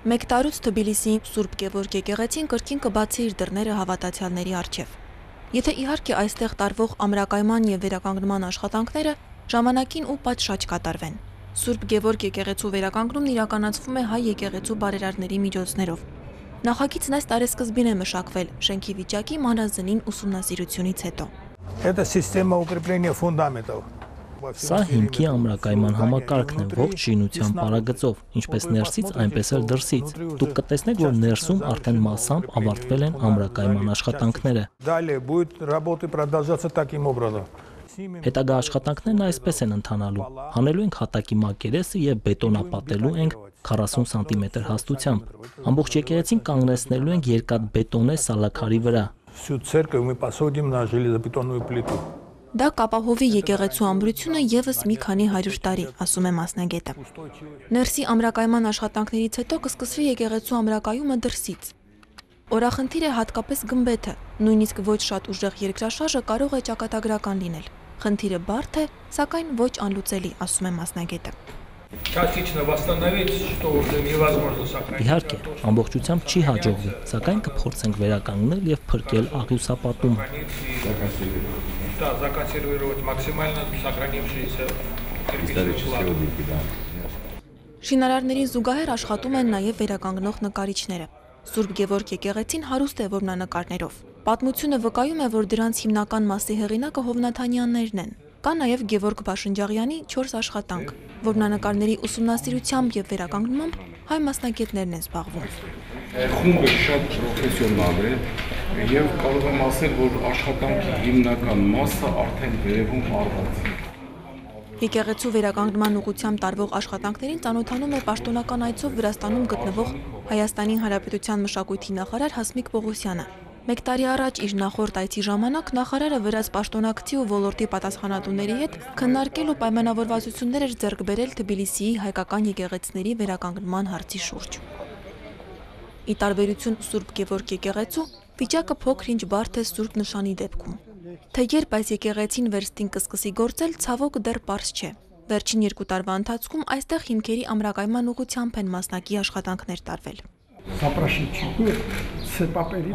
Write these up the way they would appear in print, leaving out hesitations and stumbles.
Մեկ տարուց Թբիլիսիի Սուրբ Գևորգ եկեղեցին կրկին կբացի իր դռները հավատացյալների առջև։ Եթե իհարկե այստեղ տարվող ամրակայման եւ վերականգնման աշխատանքները ժամանակին ու պատշաճ կատարվեն։ Սուրբ Գևորգ եկեղեցու վերականգնումն իրականացվում է հայ եկեղեցու բարերարների միջոցներով։ Նախագիծն այս տարեսկզբին է մշակվել շենքի վիճակի մանրազնին ուսումնասիրությունից հետո։ Это система укрепления фундаментов. Սա հիմքի ամրակայման համակարգն է ողջ շինության պարագծով, ինչպես ներսից, այնպես էլ դրսից։ Դուք կտեսնեք, որ ներսում արդեն մասամբ ավարտվել են ամրակայման աշխատանքները։ Далее будет работы продолжаться таким образом. Հետագա աշխատանքներն այսպես են ընթանալու։ Հանելու ենք հատակի մակերեսը եւ բետոնապատելու ենք 40 սանտիմետր հաստությամբ։ Ամբողջ եկեղեցին կանգնեցնելու ենք երկաթբետոնե սալաքարի վրա։ Всю церковь мы посадим на железобетонную плиту. Դա կապահովի եկեղեցու ամրությունը եւս մի քանի 100 տարի, ասում է մասնագետը։ Ներսի ամրակայման աշխատանքներից հետո կսկսվի եկեղեցու ամրակայումը դրսից։ Օրախնդիր է հատկապես գմբեթը, նույնիսկ ոչ շատ ուժեղ երկրաշարժը կարող է ճակատագրական լինել։ Խնդիրը բարդ է, սակայն ոչ անլուծելի, ասում է մասնագետը։ Частично восстановить, что уже невозможно сохранить. Իհարկե, ամբողջությամբ չի հաջողվի, սակայն կփորձենք վերականգնել եւ փրկել աղյուսապատումը։ Да, законсервировать максимально сохранившиеся кирпичные. Շինարարների զուգահեռ աշխատում են նաև վերականգնող նկարիչները։ Սուրբ Գևորգ եկեղեցին հարուստ է որմնանկարներով։ Պատմությունը վկայում է, որ դրանց հիմնական մասի հեղինակը Հովնաթանյաններն են։ Կա նաև Գևորգ Բաշնջաղյանի 4 աշխատանք։ Որմնանկարների ուսումնասիրությամբ եւ վերականգնմամբ հայ մասնագետներն են զբաղվում։ Խումբը շատ պրոֆեսիոնալ է եւ կարող եմ ասել, որ աշխատանքի հիմնական մասը արդեն վերևում արված է։ Եկեղեցու վերականգնման ուղղությամբ տարվող աշխատանքներին ծանոթանում է պաշտոնական այցով Վրաստանում գտնվող Հայաստանի Հանրապետության մշակույթի նախարար Հասմիկ Պողոսյանը։ Մեկ տարի առաջ իր նախորդ այցի ժամանակ նախարարը վրաց պաշտոնակցի ու ոլորտի պատասխանատուների հետ քննարկել ու պայմանավորվածություններ էր ձեռք բերել Թբիլիսիի հայկական եկեղեցիների վերականգնման հարցի շուրջ։ Ի տարբերություն Սուրբ Գևորգ եկեղեցու, վիճակը փոքր-ինչ բարդ է Սուրբ Նշանի դեպքում։ Թե երբ այս եկեղեցին վերստին կսկսի գործել, ցավոք դեռ պարզ չէ։ Վերջին 2 տարվա ընթացքում այստեղ հիմքերի ամրակայման ուղղությամբ են մասնակի աշխատանքներ տարվել։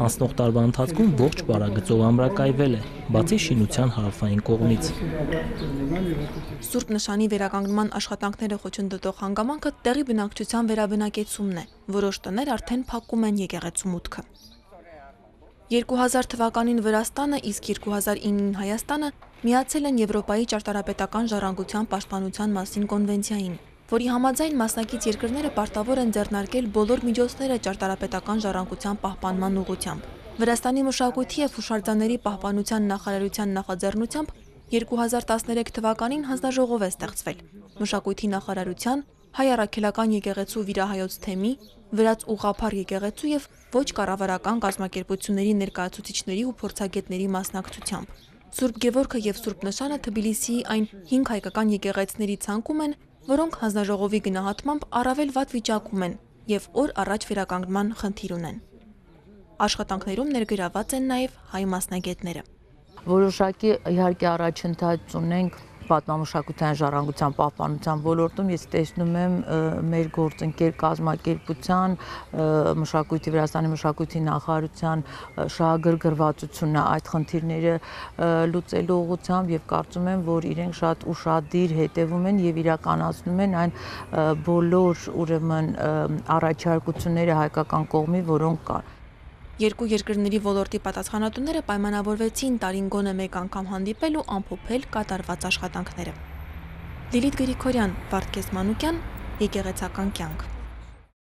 Անցնող տարվա ընթացքում ողջ պարագծով ամրակայվել է, բացի շինության հարավային կողմից։ Սուրբ Նշանի վերականգնման աշխատանքները խոչընդոտող հանգամանքը տեղի բնակչության վերաբնակեցումն է։ Որոշ տներ արդեն փակում են եկեղեցու մուտքը։ 2000 թվականին Վրաստանը, իսկ 2009-ին Հայաստանը միացել են Եվրոպայի ճարտարապետական ժառանգության պաշտպանության մասին կոնվենցիային, որի համաձայն մասնակից երկրները պարտավոր են ձեռնարկել բոլոր միջոցները ճարտարապետական ժառանգության պահպանման ուղղությամբ։ Վրաստանի մշակույթի եւ հուշարձանների պահպանության նախարարության նախաձեռնությամբ 2013 թվականին հանձնաժողով է ստեղծվել։ Մշակույթի նախարարության, Հայ առաքելական եկեղեցու վիրահայոց թեմի, վրաց ուղղափառ եկեղեցու եւ ոչ կառավարական կազմակերպությունների ներկայացուցիչների ու փորձագետների մասնակցությամբ։ Սուրբ Գևորգը եւ Սուրբ Նշանը Թբիլիսիի այն 5 հայկական եկեղեցիների ցանկում են, որոնք հանձնաժողովի գնահատմամբ առավել վատ վիճակում են եւ օր առաջ վերականգնման խնդիր ունեն։ Աշխատանքներում ներգրաված են նաեւ հայ մասնագետները։ Որոշակի իհարկե առաջընթաց ունենք պատմամշակութային ժառանգության պահպանության ոլորտում, ես տեսնում եմ մեր գործընկեր կազմակերպության, մշակույթի Վրաստանի մշակույթի նախարարության շահագրգռվածությունը այդ խնդիրները լուծելու ուղղությամբ եւ կարծում եմ, որ իրենք շատ ուշադիր հետևում են եւ իրականացնում են այն բոլոր ուրեմն առաջարկությունները հայկական կողմի, որոնք կան։ Երկու երկրների ոլորտի պատասխանատուները պայմանավորվեցին տարին գոնե մեկ անգամ հանդիպել ու ամփոփել կատարված աշխատանքները։ Լիլիթ Գրիգորյան, Վարդգես Մանուկյան, Եկեղեցական կյանք։